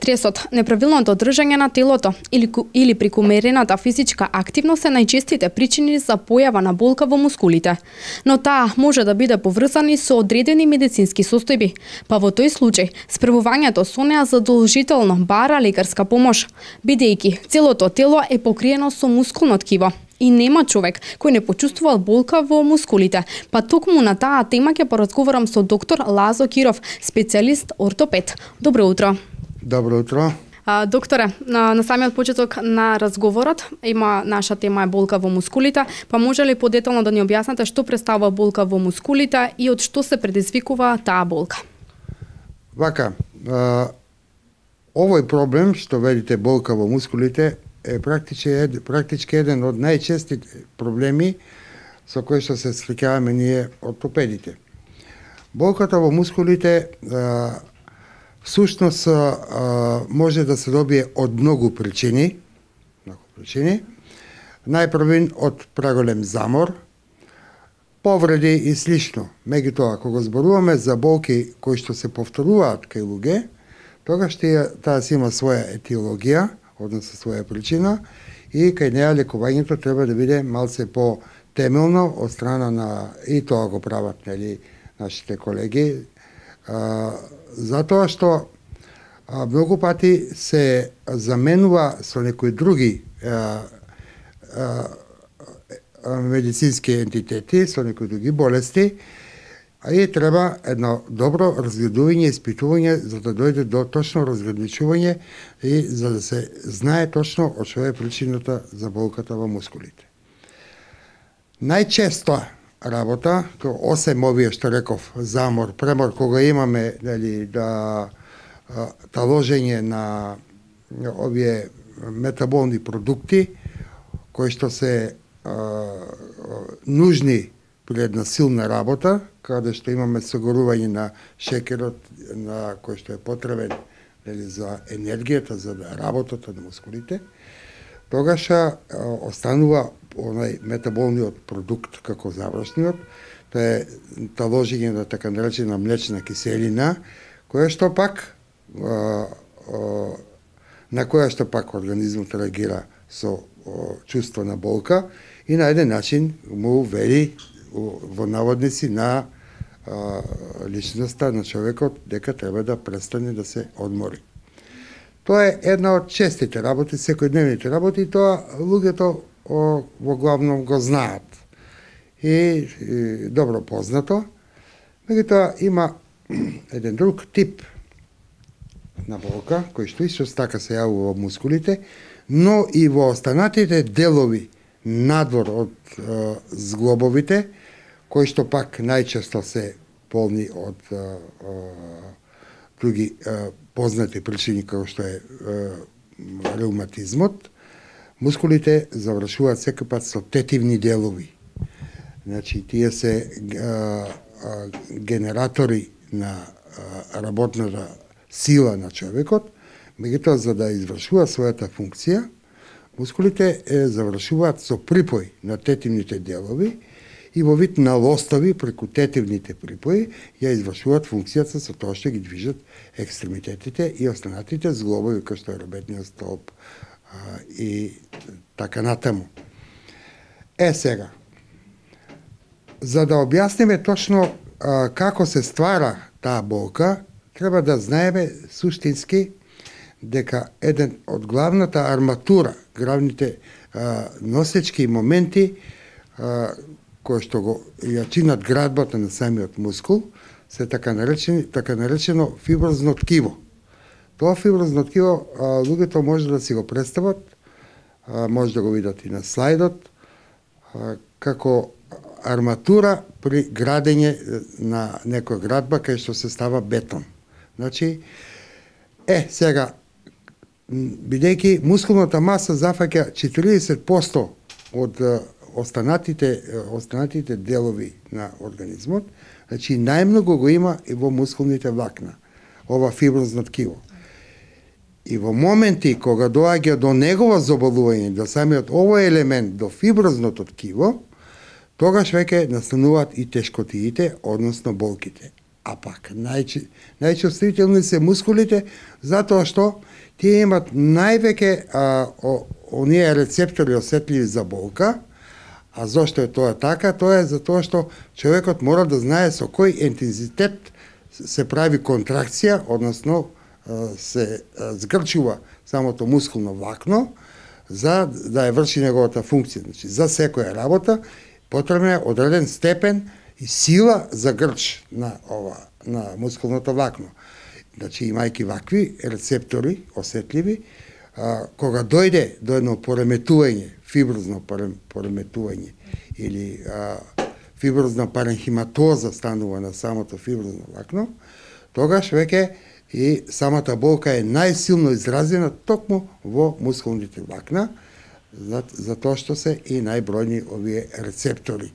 Стресот, неправилното држање на телото или прекумерената физичка активност се најчестите причини за појава на болка во мускулите. Но таа може да биде поврзана со одредени медицински состојби, па во тој случај спревувањето со неа задолжително бара лекарска помош, бидејќи целото тело е покриено со мускулно ткиво. И нема човек кој не почувствувал болка во мускулите. Па токму на таа тема ќе поразговарам со доктор Лазо Киров, специјалист ортопед. Добро утро. Добро утро. Докторе, на самиот почеток на разговорот наша тема е болка во мускулите, па може ли подетално да ни објасните што представува болка во мускулите и од што се предизвикува таа болка? Вака, овој проблем што видите болка во мускулите е практички еден од најчестите проблеми со кои што се среќаваме ние ортопедите. Болката во мускулите всушност може да се добие од многу причини. Најпрвин од преголем замор, повреди и слично. Меѓутоа, кога зборуваме за болки кои што се повторуваат кај луѓе, тогаш таа си има своја етиологија, односно своја причина, и кај неа лекувањето треба да биде малце по-темелно од страна на, и тоа го прават нашите колеги, затоа што многу пати се заменува со некои други медицински ентитети, со некои други болести, и треба едно добро разгледување и испитување за да дојде до точно разграничување и за да се знае точно од што е причината за болката во мускулите. Најчесто работа, осем овие што реков, замор, премор, кога имаме таложење на овие метаболни продукти кои што се нужни при една силна работа, каде што имаме согорување на шекерот на кој што е потребен за енергијата, за работата на мускулите, тогаш останува онај метаболниот продукт како завршниот, тоа е таложење на така наречена млечна киселина, која што пак на која што пак организмот реагира со чувство на болка и на еден начин му вели во наводници на личноста на човекот дека треба да престане да се одмори. Тоа е една од честите работи, секојдневните работи, тоа луѓето во главном го знаат и добро познато. Меѓутоа има еден друг тип на болка кој што исто така се јавува во мускулите, но и во останатите делови надвор од зглобовите, кои што пак најчесто се полни од други познати причини како што е реуматизмот. Мускулите завршуваат секој пат со тетивни делови. Значи, тие се генератори на работната сила на човекот, меѓутоа за да извршуваат својата функција, мускулите завршуваат со припој на тетивните делови и во вид на лостови преку тетивните припои ја извршуваат функцијата со тоа што ги движат екстремитетите и останатите зглобови, како што е ребетниот столб и така натаму. Сега, за да објасниме точно како се ствара таа болка, треба да знаеме суштински дека еден од главната арматура, главните носечки моменти кои што го ја чинат градбата на самиот мускул, се така наречено фиброзно ткиво. Тоа фиброзно ткиво луѓето може да си го представат, може да го видат и на слайдот, како арматура при градење на некоја градба кај што се става бетон. Значи, сега, бидејќи мускулната маса зафаќа 40% од останатите делови на организмот, значи најмногу го има и во мускулните влакна, ова фиброзно ткиво. И во моменти кога доаѓа до негово заболување, до самиот овој елемент, до фиброзното ткиво, тогаш веќе настануваат и тешкотиите, односно болките. А пак најчувствителни се мускулите затоа што тие имат највеќе оние рецептори осетливи за болка. А зошто е тоа така? Тоа е затоа што човекот мора да знае со кој интензитет се прави контракција, односно се згрчува самото мускулно влакно за да ја врши неговата функција. Значи, за секоја работа потребен е одреден степен и сила за грч на мускулното влакно. Значи, имајќи вакви рецептори осетливи, кога дојде до едно пореметување, фиброзно пореметување или фиброзна паренхиматоза станува на самото фиброзно влакно, тогаш веќе и самата болка е најсилно изразена токму во мускулните влакна, затоа што се и најбројни овие рецептори.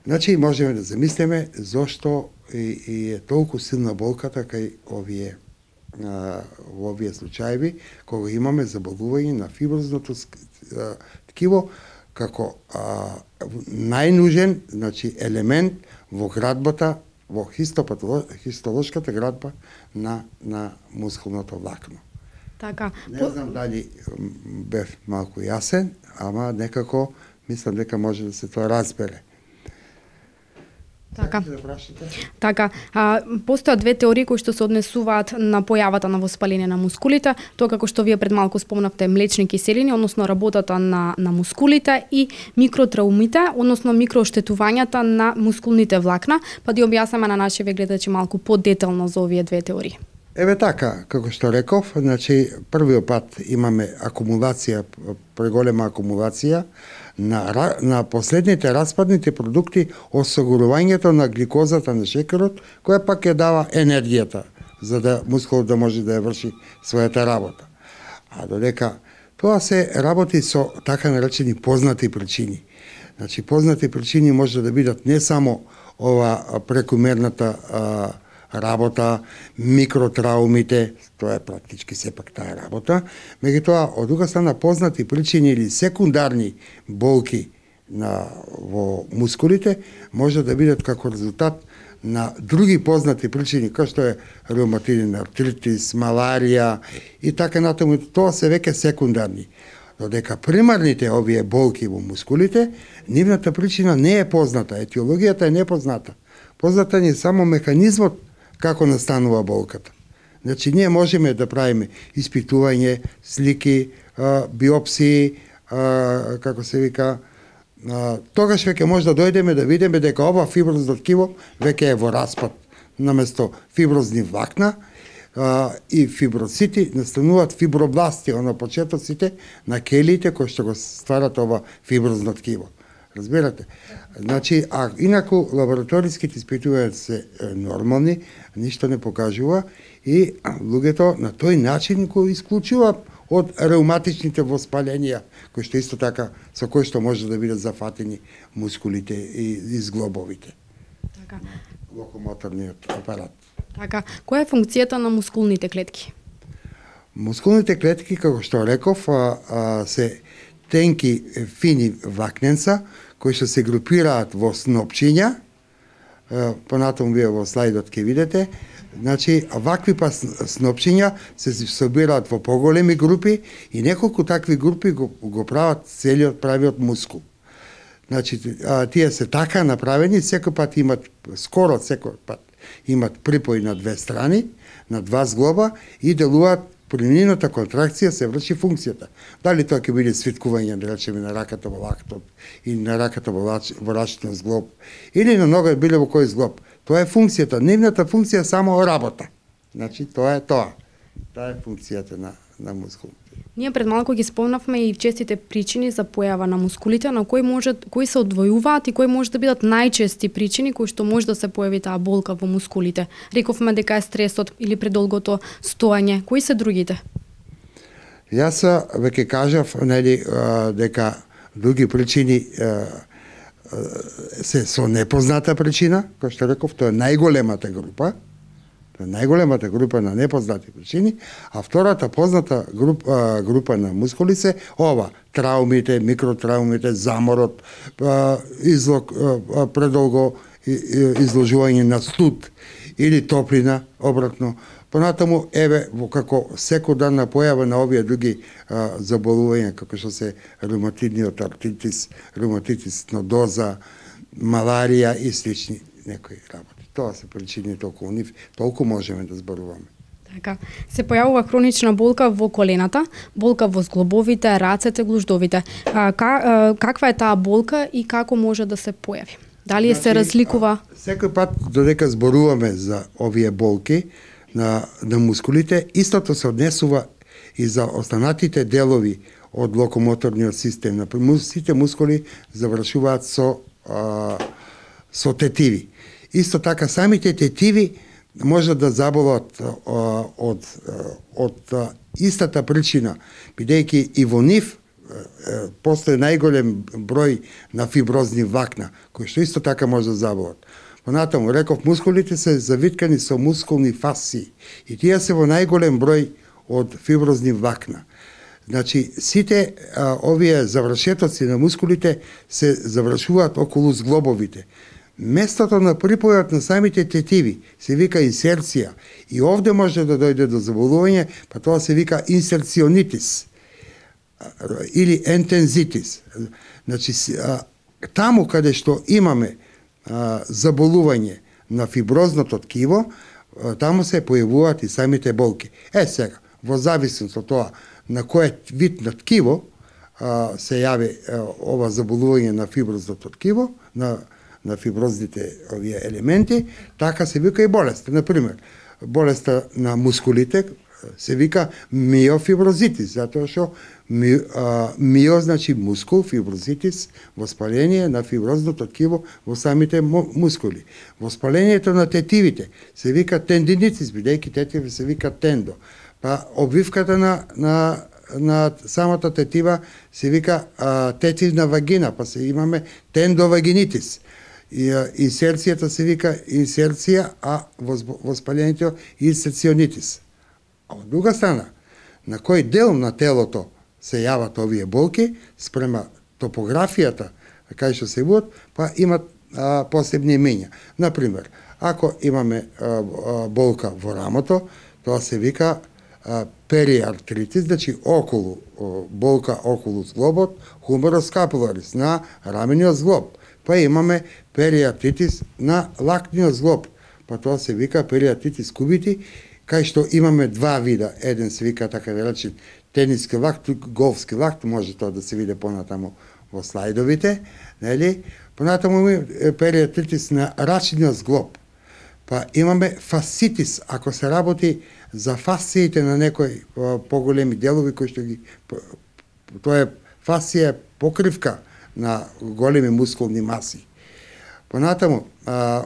Значи, можеме да замислиме зошто и е толку силна болката кај во овие случаеви, кога имаме заболување на фиброзното ткиво како најнужен, значи, елемент во градбата, во хистолошката градба на мускулното влакно. Така. Не знам дали бев малку јасен, ама некако мислам дека може да се тоа разбере. Така, постојат две теории кои што се однесуваат на појавата на воспаление на мускулите, тоа како што вие пред малку спомнавте млечни киселини, односно работата на мускулите и микротраумите, односно микрооштетувањата на мускулните влакна, па да објаснеме на нашите гледачи малку подетално за овие две теории. Еве така, како што реков, значи првиот пат имаме акумулација, преголема акумулација на последните распадните продукти, осигурувањето на гликозата на шекерот, која пак ја дава енергијата за да мускулот да може да ја врши својата работа. А додека тоа се работи со така наречени познати причини. Значи познати причини може да бидат не само ова прекумерната работа, микротраумите, тоа е практички сепак таа работа, меѓутоа од друга страна познати причини или секундарни болки во мускулите може да бидат како резултат на други познати причини, како што е реуматиден артритис, маларија и така натаму, тоа се веќе секундарни. Додека примарните овие болки во мускулите, нивната причина не е позната, етиологијата е непозната. Позната ни е само механизмот како настанува болката. Значи, ние можеме да правиме испитување, слики, биопсии, како се вика, тогаш веќе може да дојдеме да видиме дека ова фиброзно ткиво веќе е во распад. Наместо фиброзни влакна и фиброцити настануваат фибробласти, почетоците на келиите кои што го стварат ова фиброзно ткиво. Разбирате? Значи, а инаку лабораториските испитувања се нормални, ништо не покажува и луѓето на тој начин го исклучува од реуматичните воспаленија, кои што исто така со кои што може да бидат зафатени мускулите и зглобовите. Така. Локомоторниот апарат. Така, која е функцијата на мускулните клетки? Мускулните клетки, како што реков, се тенки фини влакненца кои што се групираат во снопчиња. Понатаму вие во слайдот ќе видите. Значи, вакви па снопчиња се собираат во поголеми групи и неколку такви групи го прават целиот правиот мускул. Значи, тие се така направени, секој пат имат, скоро секој пат имат припој на две страни, на два зглоба и делуваат при нивната контракција се врши функцијата. Дали тоа ќе биде свиткување, да речеме, на раката во лактот или на раката во рачниот зглоб или на нога било во кој зглоб. Тоа е функцијата. Нивната функција е само работа. Значи, тоа е тоа. Таа е функцијата на мускулите. Ние пред малку ги спомнавме и честите причини за појава на мускулите, но кои се одвојуваат и кои може да бидат најчести причини кои што може да се појави таа болка во мускулите. Рековме дека е стресот или предолгото стоење. Кои се другите? Јас веќе кажав дека други причини се со непозната причина, кој што реков, тоа е најголемата група. Најголемата група на непознати причини, а втората позната група на мускули се ова, траумите, микротраумите, заморот, излог предолго изложување на студ или топлина, обратно. Понатаму, како секојдневна појава на овие други заболувања, како што се ревматидниот артритис, ревматитис нодоза, маларија и слични некои работи. Тоа се причините околу нив, толку можеме да зборуваме. Така, се појавува хронична болка во колената, болка во зглобовите, рацете, глуждовите. Каква е таа болка и како може да се појави? Дали се разликува? Секој пат додека зборуваме за овие болки на мускулите, истото се однесува и за останатите делови од локомоторниот систем. Например, сите мускули завршуваат со тетиви. Исто така, самите тетиви може да заболат од истата причина, бидејќи и во нив постои најголем број на фиброзни влакна, кои што исто така може да заболат. Понатаму, реков, мускулите се завиткани со мускулни фасции и тие се во најголем број од фиброзни влакна. Значи, сите овие завршетоци на мускулите се завршуваат околу зглобовите. Местото на припојот на самите тетиви се вика инсерција и овде може да дојде до заболување, па тоа се вика инсерционитис или ентензитис. Значи, таму каде што имаме заболување на фиброзното ткиво, таму се појавуваат и самите болки. Сега, во зависност од тоа на кој вид на ткиво се јави ова заболување на фиброзното ткиво, на фиброзните овие елементи, така се вика и болест. Например, болеста на мускулите се вика миофиброзитис, затоа што мио значи мускул, фиброзитис, воспаление на фиброзното ткиво во самите мускули. Воспалението на тетивите се вика тендинитис, бидејќи тетиви се вика тендо. Па обвивката на самата тетива се вика тетивна вагина, па се имаме тендовагинитис. Инсерцијата се вика инсерција, а воспалението инсерционитис. А од друга страна, на кој дел на телото се јават овие болки, спрема топографијата, кај што се јават, па имат посебни имења. Например, ако имаме болка во рамото, тоа се вика периартритис, значи болка околу зглобот, хумерус скапуларис, на рамениот зглоб. Па имаме периартритис на лактниот зглоб, па тоа се вика периартритис кубити, кај што имаме два вида. Еден се вика така да речем тениски лакт, голфски лакт, може тоа да се види понатаму во слайдовите, нели? Понатаму имаме периартритис на рачниот зглоб. Па имаме фасцитис, ако се работи за фасциите на некои поголеми делови кои што ги тоа е фасција покривка на големи мускулни маси. Понатаму,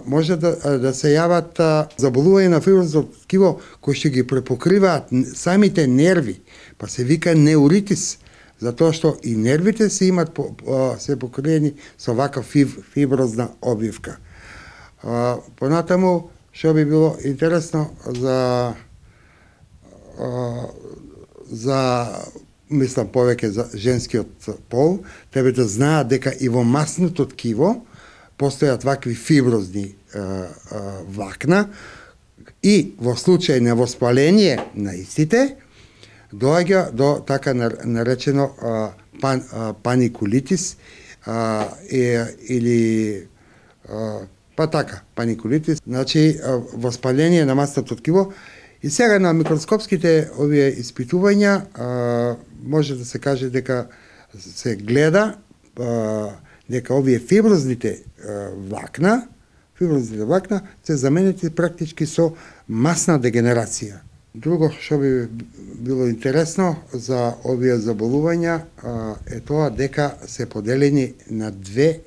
може да се јават заболување на фиброзното ткиво кои што ги препокриваат самите нерви, па се вика неуритис, затоа што и нервите се имат се покриени со ваква фиброзна обвивка. Понатаму, што би било интересно за мислам повеќе за женскиот пол, тебе да знаат дека и во масното ткиво постојат вакви фиброзни влакна и во случај на воспаление на истите доаѓа до така наречено паникулитис или па така, паникулитис, значи воспаление на масното ткиво. И сега на микроскопските овие испитувања може да се каже дека се гледа дека овие фиброзните влакна се заменети практички со масна дегенерација. Друго што би било интересно за овие заболувања е тоа дека се поделени на две,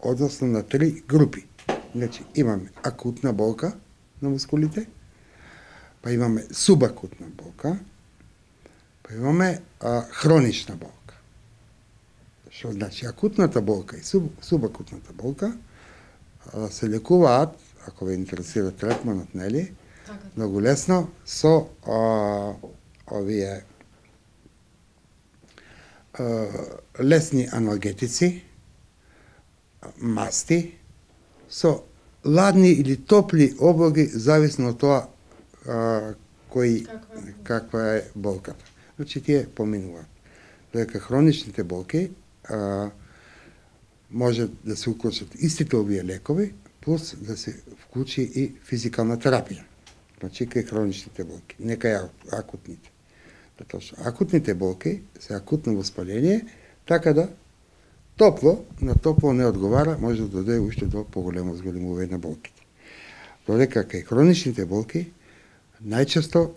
односно на три групи. Значи, имаме акутна болка на мускулите, па имаме субакутна болка, па имаме хронична болка. Што значи акутната болка и субакутната болка се лекуваат, ако ве интересира третманот, нели? Многу лесно со овие лесни аналгетици, масти, со ладни или топли облоги, зависно од тоа каква е болката. Значи, тие поминуваат. Додека хроничните болки може да се уклучат истите овие лекови, плюс да се вклучи и физикална терапија. Значи, кај хроничните болки, не кај акутните. Затоа што акутните болки се акутно воспаление, така да на топло не одговара, може да дојде уште до поголемо зголемување на болките. Додека кај хроничните болки, најчесто,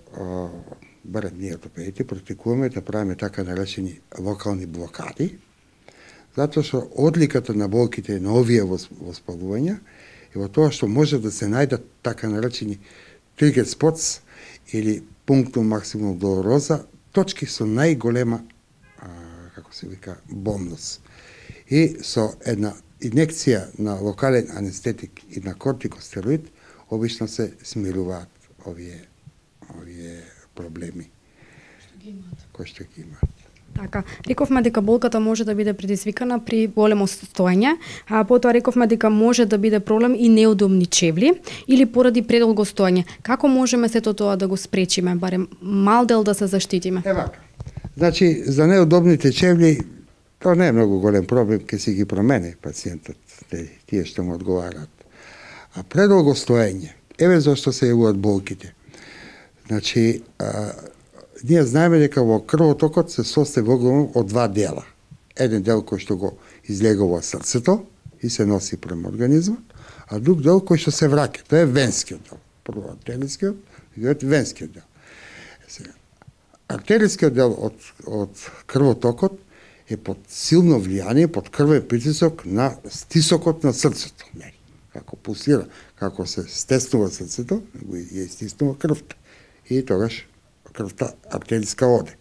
барем ние ортопедите, практикуваме да правиме така наречени локални блокади, затоа што одликата на болките на овие воспалувања е во тоа што може да се најдат така наречени тригер спотс или пунктум максимум долороза, точки со најголема, како се вика, болност. И со една инекција на локален анестетик и на кортикостероид, обично се смируваат овие проблеми кои што ги имаат. Така, рековме дека болката може да биде предизвикана при големо стоење, а потоа рековме дека може да биде проблем и неудобни чевли или поради предолго стоење. Како можеме сето тоа да го спречиме, барем мал дел да се заштитиме? Вака. Значи, за неудобните чевли, тоа не е многу голем проблем, ке си ги промени пациентот, тие што му одговараат. А предолго стоење, еве зашто се јавуваат болките. Значи, ние знаеме дека во крвотокот се состои од два дела. Еден дел кој што го излегува срцето и се носи према организмот, а друг дел кој што се враќа, тоа е венскиот дел. Прво артерискиот и венскиот дел. Артерискиот дел од крвотокот е под силно влијание, под крвен притисок на стисокот на срцето. Како пулсира, како се стеснува срцето, го ја стиснува крвта. И тогаш крвта артериска оде.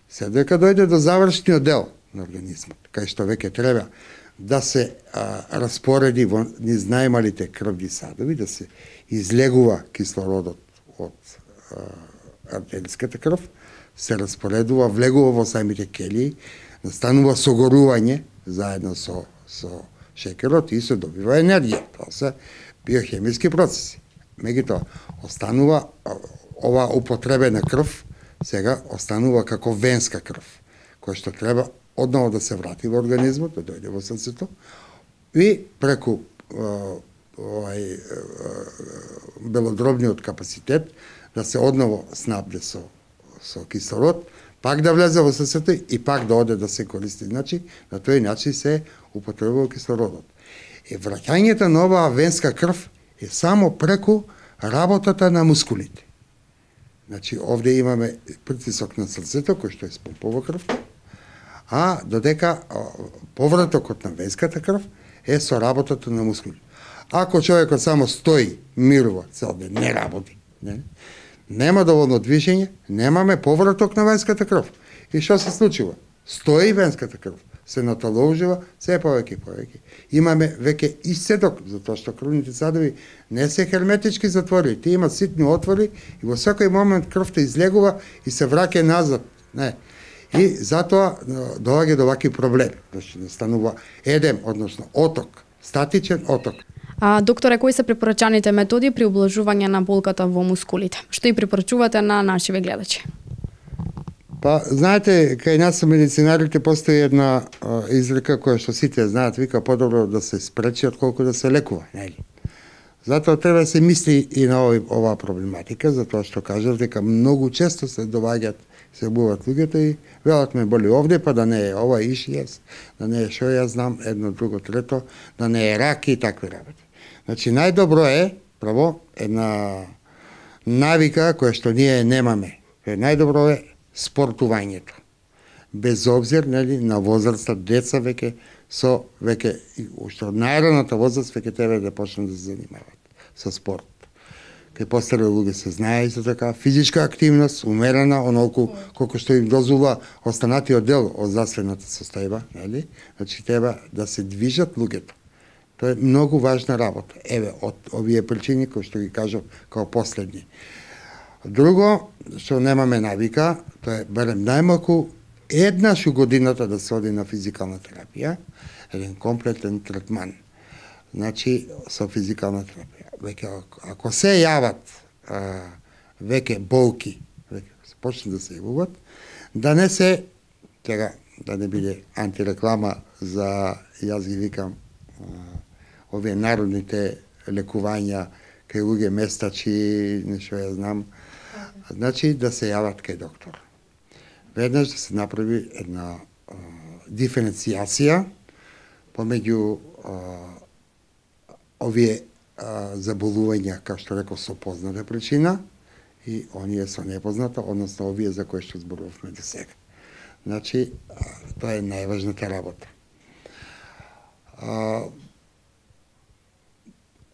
Се дека дојде до завршниот дел на организмот, кај што веќе треба да се распореди во низ најмалите крвни садови, да се излегува кислородот од артериската крв, се распоредува, влегува во самите келии, настанува согорување заедно со шекерот и се добива енергија. Тоа се биохемиски процеси. Меѓутоа, останува ова употребена крв, сега останува како венска крв, која што треба одново да се врати во организмот, да дојде во срцето, и преку белодробниот капацитет да се одново снабде со кислород, пак да влезе во срцето и пак да оде да се користи. Значи, на тој начин се употребува кислородот. И враќањето на оваа венска крв е само преку работата на мускулите. Значи, овде имаме притисок на срцето, кој што е спомпува крвта, а додека повратокот на венската крв е со работата на мускулите. Ако човекот само стои, мирува цел ден, не работи, нема доволно движење, немаме повраток на венската крв. И што се случува? Стои венската крв, се наталожува се повеќе и повеќе. Имаме веќе исцедок, затоа што крвните садови не се херметички затворени, тие имаат ситни отвори и во секој момент крвта излегува и се враќа назад. И затоа доаѓа до вакви проблеми. Значи, настанува едем, односно оток, статичен оток. Докторе, кои се препорачаните методи при облажување на болката во мускулите? Што и препорачувате на нашиве гледачи? Знаете, кај нас со медицинарите постои една изрека која што сите знаат, вика подобро да се спречи отколку да се лекува, нели? Затоа треба да се мисли и на оваа проблематика, затоа што кажав дека многу често се доваѓаат, се буваат луѓето и велат ме боли овде, па да не е ова ишијас, да не е шо јас знам, едно, друго, трето, да не е рак и такви работи. Значи, најдобро е, право, една навика која што ние немаме. Најдобро е спортувањето. Без обзир, нели, на возраста, деца веќе уште од најраната возраст веќе треба да почнат да се занимаваат со спорт. Кај постари луѓе се знае исто така, физичка активност, умерена, онолку колку што им дозволува останатиот дел од здравствената состојба, нели? Значи треба да се движат луѓето. Тоа е многу важна работа. Еве, од овие причини кои што ги кажав као последни. Друго, што немаме навика, тоа е барем најмалку еднаш у годината да се оди на физикална терапија, еден комплетен третман Значи, со физикална терапија. Веќе, ако се јават веќе болки, веќе се почне да се јавуваат, да не се, тега, да не биде антиреклама за, јас ги викам, овие народните лекувања, кај луѓе местачи, нешто ја знам, значи да се јават кај доктор. Веднаш да се направи една диференцијација помеѓу овие заболувања, како што реков, со позната причина и оние со непозната, односно овие за кои што зборувавме до сега. Значи, тоа е најважната работа.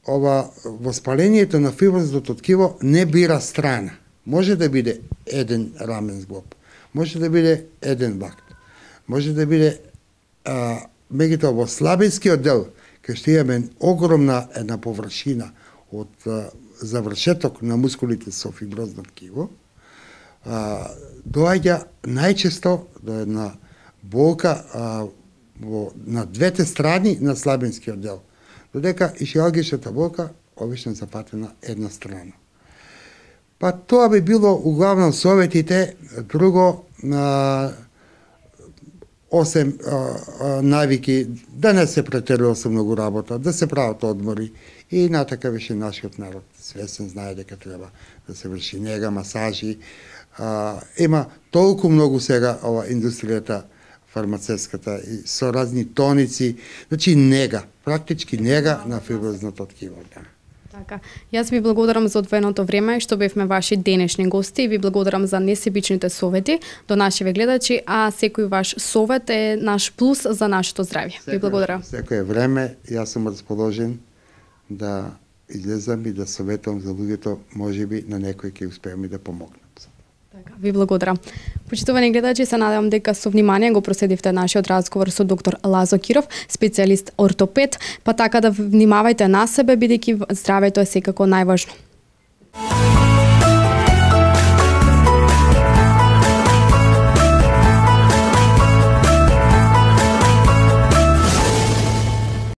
Ова воспалението на фиброзното ткиво не бира страна. Може да биде еден рамен зглоб, може да биде еден бакт, може да биде меѓутоа во слабинскиот дел, кај што имаме огромна една површина од завршеток на мускулите со фиброзно ткиво, доаѓа најчесто до една болка на двете страни на слабинскиот дел, додека ишиалгичната болка обично запатена една страна. Па тоа би било углавном советите, друго 8 навики, да не се претерува со многу работа, да се прават одмори и натака више нашиот народ свесен знае дека треба да се врши нега, масажи. Има толку многу сега ова индустријата фармацевската и со разни тоници, значи нега, практички нега на фиброзното ткиво. Така. Јас ви благодарам за одвоеното време што бевме ваши денешни гости и ви благодарам за несебичните совети до нашиве гледачи, а секој ваш совет е наш плюс за нашето здравје. Ви благодарам. Секој време јас сум расположен да излезам и да советувам за луѓето, можеби на некој ќе успеам и да помогнам. Така, ви благодарам. Почитувани гледачи, се надевам дека со внимание го проследивте нашиот разговор со доктор Лазо Киров, специјалист ортопед, па така да внимавајте на себе, бидејќи здравето е секако најважно.